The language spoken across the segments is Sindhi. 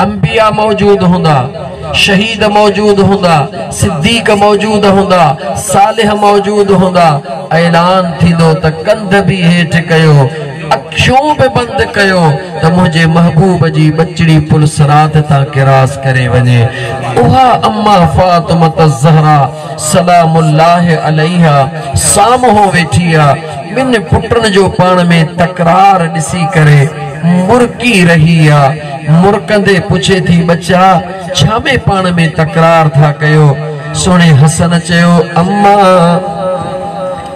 انبياء موجود هوندا، شهيد موجود هوندا، صديق موجود هوندا، صالح موجود هوندا، اعلان ٿيندو ته ڪنڌ به هيٺ ڪيو، اکيون به بند ڪيو ته منهنجي محبوب جي ٻچڙي پل صراط تان ڪراس ڪري وڃي. اها اما فاطمة الزهراء سلام الله عليها سامهون ويٺي آ، ٻن پٽن جو پاڻ ۾ تڪرار ڏسي ڪري مرڪي رهي آ. مرڪندي پڇي ٿي ٻچا ڇا ۾ پاڻ ۾ تڪرار ٿا ڪيو؟ سهڻي حسن چيو اما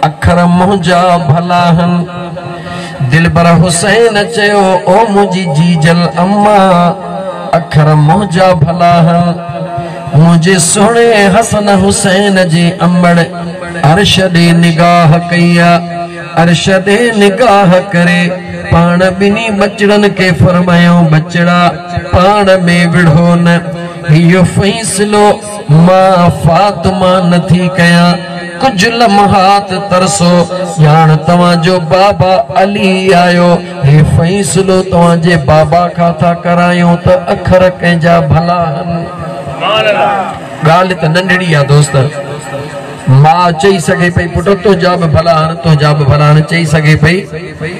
اکر منهنجا ڀلا هن. دلبر حسين چيو او منهنجي جيجل اما اکر منهنجا ڀلا هن. منهنجي سهڻي حسن حسين جي امڙ عرش ڏي نگاهه ڪئي آ. عرش ڏي نگاهه ڪري پاڻ ٻنهي ٻچڙن کي فرمايائون، ٻچڙا! پاڻ ۾ وڙهو نه، هيء فيصلو مان فاطمه نه ٿي ڪيان، ڪجهه لمحات ترسو، ڄاڻ توهان جو بابا علي آيو، هي فيصلو توهان جي بابا کان ٿا ڪرايون ته اکر ڪنهن جا ڀلا هن. ڳالهه ته ننڍڙي آ دوست. ماء چئي سگهي پئي پٽ تنهنجا به ڀلا هن تنهنجا به ڀلا هن چئي سگهي پئي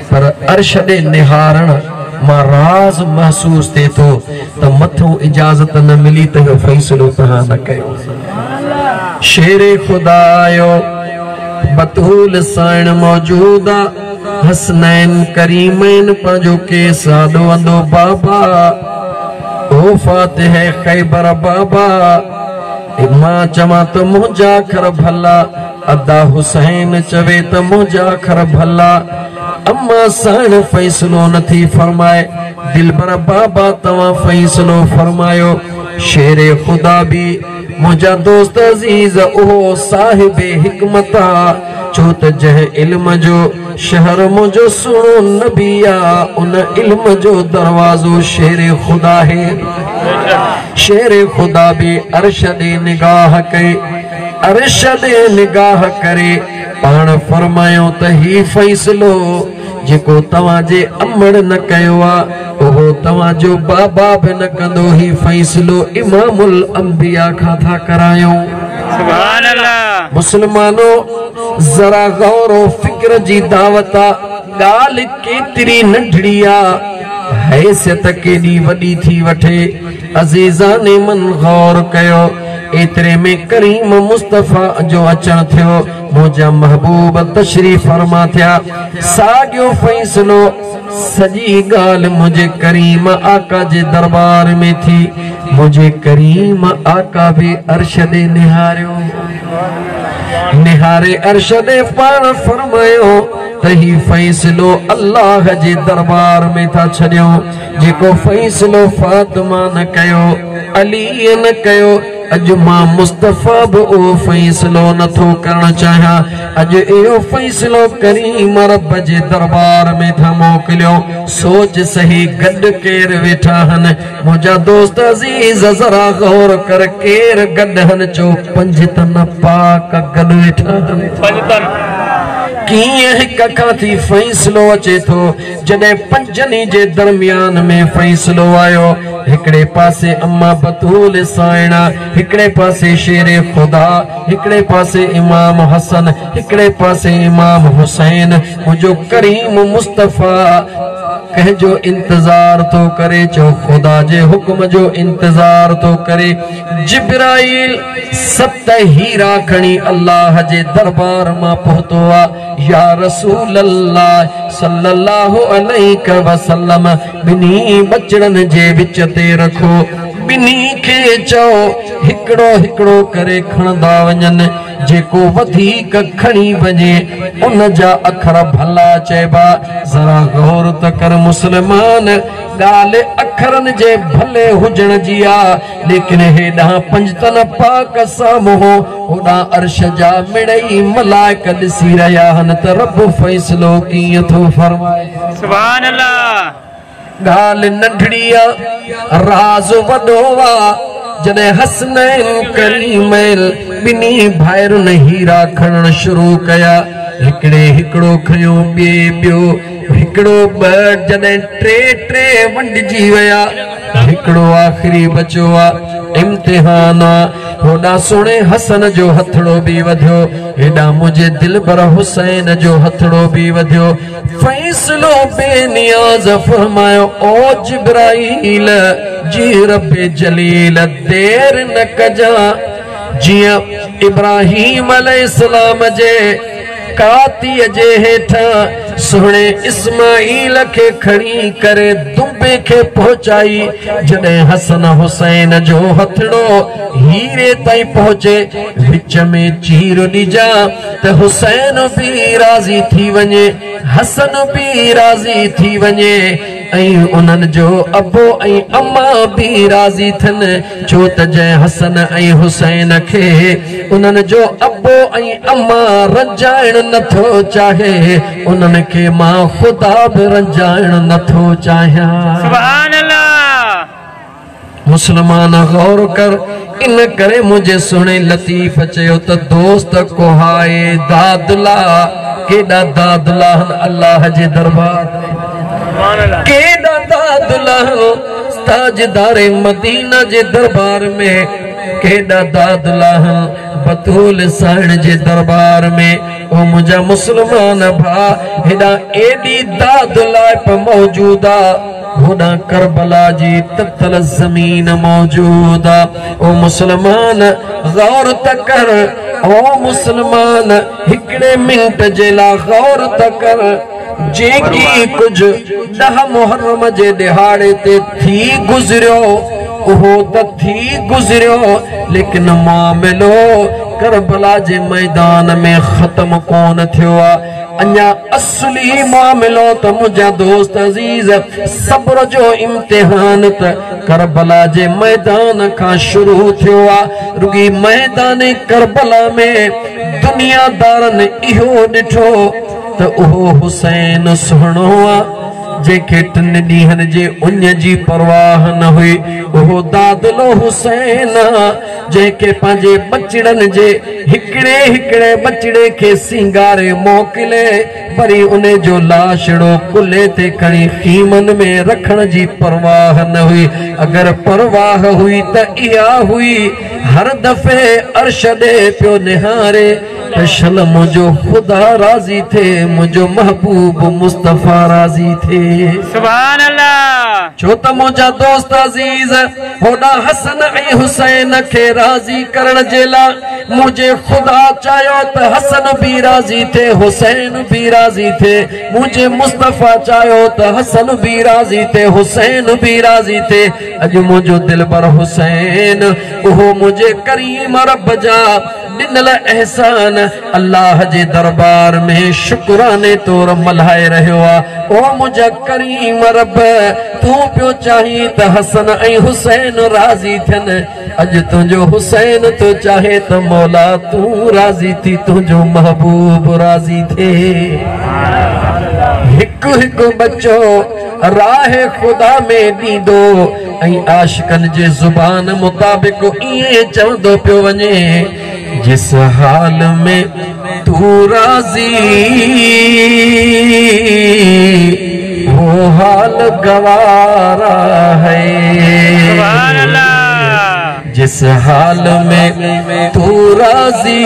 پر عرش ڏي نهارڻ مان راز محسوس ٿئي ٿو ته مٿئون اجازت نه ملي ته اهو فيصلو توهان نه ڪيو. شير خدا آيو بتول سائڻ موجود آ حسنين ڪريمين پنهنجو ڪيس آڏو آندو بابا او فاتح خيبر بابا. مان چوان ته منهنجا اکر ڀلا، ادا حسين چوي ته منهنجا اکر ڀلا، اما سائڻ فيصلو نه ٿي فرمائي، دلبر بابا توهان فيصلو فرمايو، شير خدا به منهنجا دوست عزيز اهو صاحب حڪمت آ، ڇو ته جنهن علم جو شهر منهنجو سهڻو نبي آ، ان علم جو دروازو شير خدا آهي. شير خدا به عرش ڏي نگاهه ڪئي، عرش ڏي نگاهه ڪري پاڻ فرمايو ته هي فيصلو جيڪو توهان جي امڙ نه ڪيو آ، اهو توهان جو بابا به نه ڪندو، هي فيصلو امام الانبياء کان ٿا ڪرايون. سبحان الله. مسلمانو! ذرا غور و فڪر جي دعوت آ، ڳالهه ڪيتري ننڍڙي آ، حيثيت ڪيڏي وڏي ٿي وٺي. عزيزان من غور ڪيو، ايتري ۾ ڪريم مصطفيٰ جو اچڻ ٿيو، منهنجا محبوب تشريف فرما ٿيا، ساڳيو فيصلو، سڄي ڳالهه منهنجي ڪريم آقا جي دربار ۾ ٿي، منهنجي ڪريم آقا به عرش ڏي نهاريو، نهاري عرش ڏي پاڻ فرمايو ته هي فيصلو الله جي دربار ۾ ٿا ڇڏيون، جيڪو فيصلو فاطمه نه ڪيو، علي نه ڪيو، اڄ مان مصطفيٰ به اهو فيصلو نه ٿو ڪرڻ چاهيان، اڄ اهو فيصلو ڪريم رب جي دربار ۾ ٿا موڪليون. سوچ سهي گڏ ڪير ويٺا هن؟ منهنجا دوست عزيز ذرا غور ڪر ڪير گڏ هن؟ چو پنجتن پاڪ گڏ ويٺا هن. ڪيئن هڪ کان ٿي فيصلو اچي ٿو؟ جڏهن پنجن ئي جي درميان ۾ فيصلو آيو، هڪڙي پاسي اما بتول سائڻا، هڪڙي پاسي شير خدا، هڪڙي پاسي امام حسن، هڪڙي پاسي امام حسين، منهنجو ڪريم مصطفيٰ ڪنهن جو انتظار ٿو ڪري؟ چئو خدا جي حڪم جو انتظار ٿو ڪري. جبرائيل ست هيرا کڻي الله جي دربار مان پهتو آ. يا رسول الله صلي الله عليڪ وسلم ٻنهي ٻچڙن جي وچ تي رکو، ٻنهي کي چئو هڪڙو هڪڙو ڪري کڻندا وڃن، جيڪو وڌيڪ کڻي وڃي ان جا اکر ڀلا چئبا. ذرا غور ته ڪر مسلمان، ڳالهه اکرن جي ڀلي هجڻ جي آ، ليڪن هيڏانهن پنجتن پاڪ سامهون هوڏانهن عرش جا مڙئي ملائڪ ڏسي رهيا هن ته رب فيصلو ڪيئن ٿو فرمائي. سبحان الله. ڳالهه ننڍڙي آ راز وڏو آ. جڏهن حسنين ڪريمين ٻنهي ڀائرن هيرا کڻڻ شروع ڪيا، هڪڙي هڪڙو کنيو، ٻئي ٻيو، हिकिड़ो ॿ जॾहिं टे टे वंडिजी विया हिकिड़ो आख़िरी बचियो आहे इम्तिहान आहे। होॾां सुहिणे हसन जो हथड़ो बि वधियो, हेॾां मुंहिंजे दिलबर हुसैन जो हथड़ो बि वधियो। फ़ैसिलो बेनियाज़ फरमायो ओ जिब्राईल जी रब जलील देर न कजां, जीअं इब्राहिम अलैहिस्सलाम जे कातीअ जे हेठां सुहिणे इस्माईल खे खणी करे दुंबे खे पहुचाई, जॾहिं हसन हुसैन जो हथड़ो हीरे ताईं पहुचे विच में चीर ॾिजां त हुसैन बि राज़ी थी वञे, हसन बि राज़ी थी वञे ऐं उन्हनि जो अबो ऐं अम्मा बि राज़ी थियनि। छो त जंहिं हसन ऐं हुसैन खे उन्हनि जो अबो ऐं अम्मा रंजाइण नथो चाहे, उन्हनि खे मां ख़ुदा बि रंजाइण नथो चाहियां। सुभान अल्लाह। मुसलमान गौर कर, इन करे मुंहिंजे सुहिणे लतीफ़ चयो त दोस्त कोहाए दादला, केॾा दादला आहिनि अल्लाह जे दरबार, केॾा दादला ताजदारे मदीना जे दरबार में, केॾा दादला बतूल साइण जे दरबार में। ओ मुंहिंजा मुसलमान भाउ, हेॾां एॾी दादलाइप मौजूद आहे, होॾां करबला जी ततल ज़मीन मौजूद आहे। ओ मुसलमान गौर त कर, ओ मुसलमान हिकिड़े मिंट जे लाइ गौर त कर, जेकी कुझु 10 मुहर्रम जे ॾिहाड़े ते थी गुज़रियो उहो त थी गुज़रियो, लेकिन मामिलो करबला जे मैदान में ख़त्म कोन थियो आहे। अञा असली मामिलो त मुंहिंजा दोस्त अज़ीज़ सब्र जो इम्तिहान त करबला जे मैदान खां शुरू थियो आहे। रुगी मैदान करबला में दुनियादारनि इहो ॾिठो त उहो हुसैन सुहिणो आहे जंहिंखे टिनि ॾींहनि जे उञ जी परवाह न हुई, उहो दादलो हुसैन आहे जंहिंखे पंहिंजे बचड़नि जे हिकिड़े हिकिड़े बचड़े खे सिंगारे मोकिले वरी उन जो लाशड़ो कुल्हे ते खणी ख़ीमनि में रखण जी परवाह न हुई। अगरि परवाह हुई त इहा हुई, हर दफ़े अर्श ॾे पियो निहारे त शल मुंहिंजो ख़ुदा राज़ी थिए, मुंहिंजो महबूब मुस्तफ़ा राज़ी थिए। सुभान अल्लाह। छो त मुंहिंजा दोस्त अज़ीज़ होॾां हसन ऐं हुसैन खे राज़ी करण जे लाइ मुंहिंजे ख़ुदा चाहियो त हसन बि राज़ी थिए, हुसैन बि राज़ी थिए। मुंहिंजे मुस्तफ़ा चाहियो त हसन बि राज़ी थिए, हुसैन बि राज़ी थिए। अॼु मुंहिंजो दिलबर हुसैन उहो मुंहिंजे करीम रब जा ॾिनल अहसान अल्लाह जे दरबार में शुक्राने तौर मल्हाए रहियो आहे। ओ मुंहिंजा करीम रब, तूं पियो चाहीं त हसन ऐं हुसैन राज़ी थियनि, अॼु तुंहिंजो हुसैन थो चाहे त मौला तूं राज़ी थी, तुंहिंजो महबूब राज़ी थिए। हिकु हिकु बचो राह ख़ुदा में ॾींदो ऐं आशिकनि जे ज़ुबान मुताबिक़ ईअं चवंदो पियो वञे, जिस हाल में तू राज़ी वो हाल गवारा है। सुभान अल्लाह। जिस हाल में तू राज़ी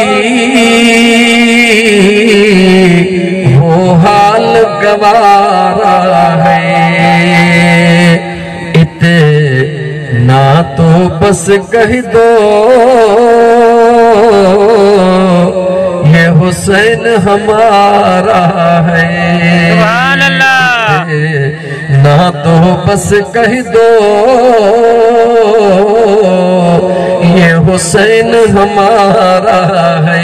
वो हाल गवारा है। इतना तो बस कह दो ये हुसैन हमारा है। सुभान अल्लाह। ना तो बस कह दो ये हुसैन हमारा है।